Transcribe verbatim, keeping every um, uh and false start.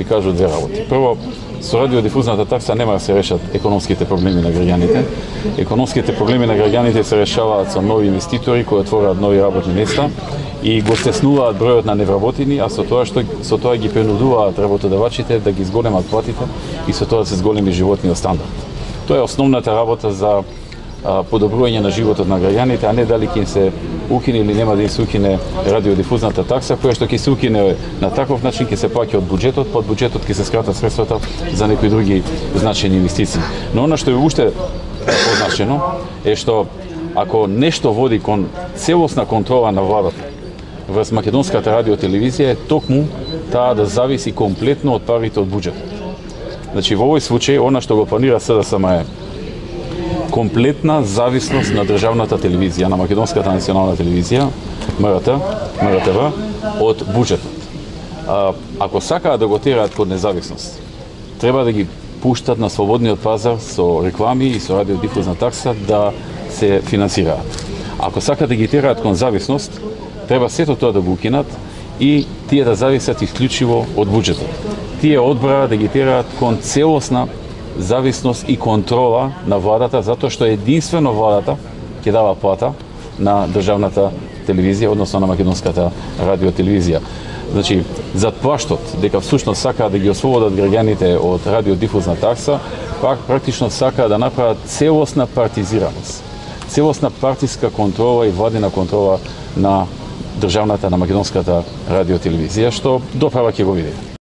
Ви кажу две работи. Прво, со радиодифузната такса нема да се решат економските проблеми на граѓаните. Економските проблеми на граѓаните се решаваат со нови инвеститори кои отвораат нови работни места и го стеснуваат бројот на невработени, а со тоа што со тоа ги принудуваат работодавачите да ги зголемат платите и со тоа се зголеми животниот стандард. Тоа е основната работа за подобрување на животот на граѓаните, а не дали ќе им се укине или нема да им се укине радиодифузната такса, која што ќе се укине на таков начин ќе се плаќа од буџетот, под буџетот ќе се скратат средствата за некои други значајни инвестиции. Но она што е уште позначено е што ако нешто води кон целосна контрола на владата врз македонската радиотелевизија е токму таа да зависи комплетно од парите од буџетот. Значи во овој случај она што го планира СДСМ е комплетна зависност на државната телевизија, на македонската национална телевизија, МРТ, МРТВ, од буџетот. А, ако сакаат да го тераат кон независност, треба да ги пуштат на слободниот пазар со реклами и со радиодифузна такса да се финансираат. Ако сакаат да ги тераат кон зависност, треба сето тоа да го укинат и тие да зависат исклучиво од буџетот. Тие одбраа да ги тераат кон целосна зависност и контрола на владата, затоа што единствено владата ќе дава плата на државната телевизија, односно на македонската радиотелевизија. Значи, зад плаштот дека всушност сакаат да ги ослободат граѓаните од радиодифузна такса, пак практично сакаат да направат целосна партизираност, целосна партиска контрола и владина контрола на државната, на македонската радиотелевизија, што доправа ќе го видите.